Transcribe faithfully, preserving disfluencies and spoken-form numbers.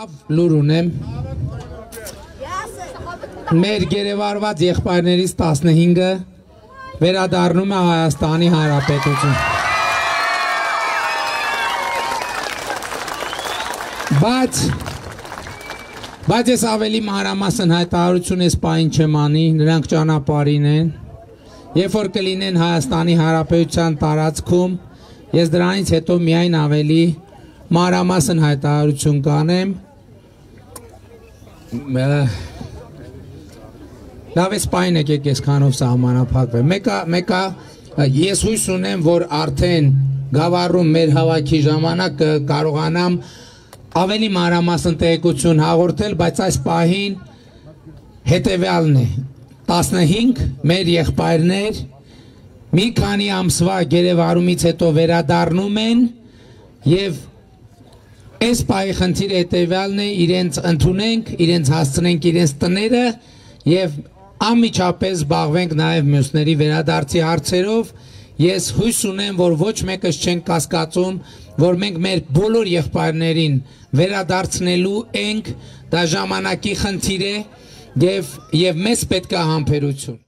լուր ունեմ մեր գերեվարված եղբայրներից տասնհինգը վերադառնում է Հայաստանի Հանրապետություն բայց բայց ես ավելի մանրամասն հայտարարություն ես պահին չեմ անի նրանք ճանապարհին են երբ որ կլինեն Հայաստանի Հանրապետության տարածքում ես դրանից հետո միայն ավելի մանրամասն հայտարարություն կանեմ լավ ես պահին եկեք ես քանով սահմանափակվեմ մեկը մեկը ես հույս ունեմ որ արդեն գավառում մեր հավաքի ժամանակ կարողանամ ավելի մանրամասն տեղեկություն հաղորդել բայց այս պահին հետևյալն է տասնհինգ մեր եղբայրներ մի քանի ամսվա գերեվարումից հետո վերադառնում են եւ այս պահի խնդիրը հետևյալն է իրենց ընդունենք իրենց հասցնենք իրենց տները եւ անմիջապես զբաղվենք նաև մյուսների վերադարձի հարցերով ես հույս ունեմ որ ոչ մեկս չեն կասկածում որ մենք մեր բոլոր եղբայրներին վերադարձնելու ենք դա ժամանակի խնդիր է եւ եւ մեզ պետք է համբերություն